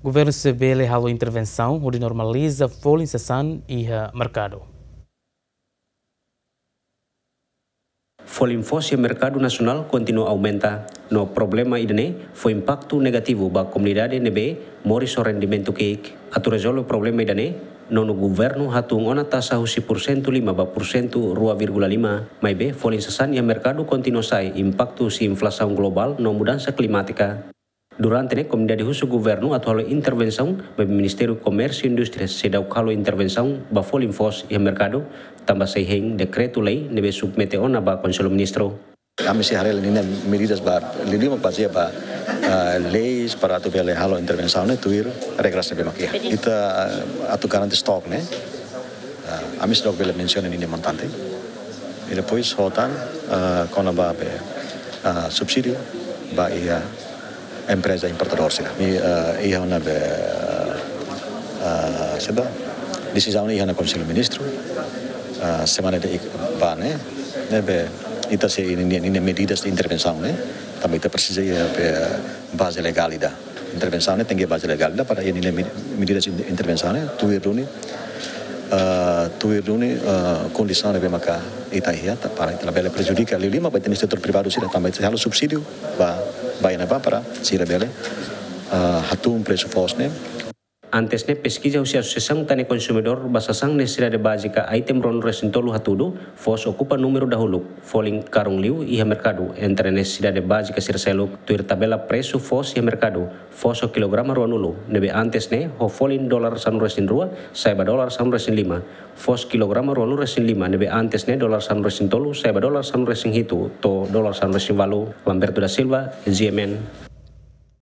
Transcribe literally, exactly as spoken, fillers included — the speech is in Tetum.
Governu sei bele halo intervensaun hodi normaliza folin sasán iha merkadu. Folin foos iha merkadu nasionál kontinua aumenta, no problema ida-ne'e fó impaktu negativu ba komunidade ne'ebé moris ho rendimentu ki'ik. Atu rezolve problema ida-ne'e, nonu governu hatún ona taxa husi pursentu lima ba pursentu rua vírgula lima, maibé folin sasán iha merkadu kontinua sai impaktu husi inflasaun globál no mudansa klimátika. Durante ne'e, komunidade husu governu atu halo intervensaun, maibé Ministériu Komérsiu Indústria seidauk halo intervensaun ba folin foos iha merkadu, tanba sei hein dekretu-lei ne'ebé submete ona ba Konsellu Ministru. Ami sei haree ninia medidas ba, liuliu mak bazeia ba, ah, leis para atu bele halo intervensaun ne'e tuir regras ne'ebé mak iha. Ita, ah, atu garante stok ne'e, ah, ami seidauk bele mensiona ninia montante. I depois hotu tan, ah, kona-ba be, ah, subsídiu ba iha empreza importadór sira. I, ah, iha ona be, ah, saida, desizaun iha ona Konsellu Ministru, ah, semana ida ba ne'e, ne'ebé ita sei ninia, ninia medidas de intervensaun ne'e, tanba ita presiza iha be baze legál ida. Intervensaun ne'e tenke baze legál ida para iha ninia me-, medidas de intervensaun ne'e tuir duni, ah, tuir duni, ah, kondisaun ne'ebé maka ita iha, ta-, para ita labele prejudika liuliu mak ba ita-nia setór privadu sira tanba ita halo subsídiu ba, ba iha ne'ebá para sira bele, ah, hatún presu foos ne'e. Antes ne'e, peskiza husi Asosiasaun Tani Konsumidór ba sasán nesesidade bázika item ruanulu-resin-tolu hatudu, foos okupa númeru dahuluk, folin karun liu iha merkadu entre nesesidade bázika sira seluk. Tuir tabela presu foos iha merkadu, foos ho kilograma ruanulu, ne'ebé antes ne'e ho folin dolar sanulu-resin-rua, sai ba dolar sanulu-resin-lima. Foos kilograma ruanulu-resin-lima, ne'ebé antes ne'e dolar sanulu-resin-tolu, sai ba dolar sanulu-resin-hitu to'o dolar sanulu-resin-ualu. Lamberto da Silva, G M N.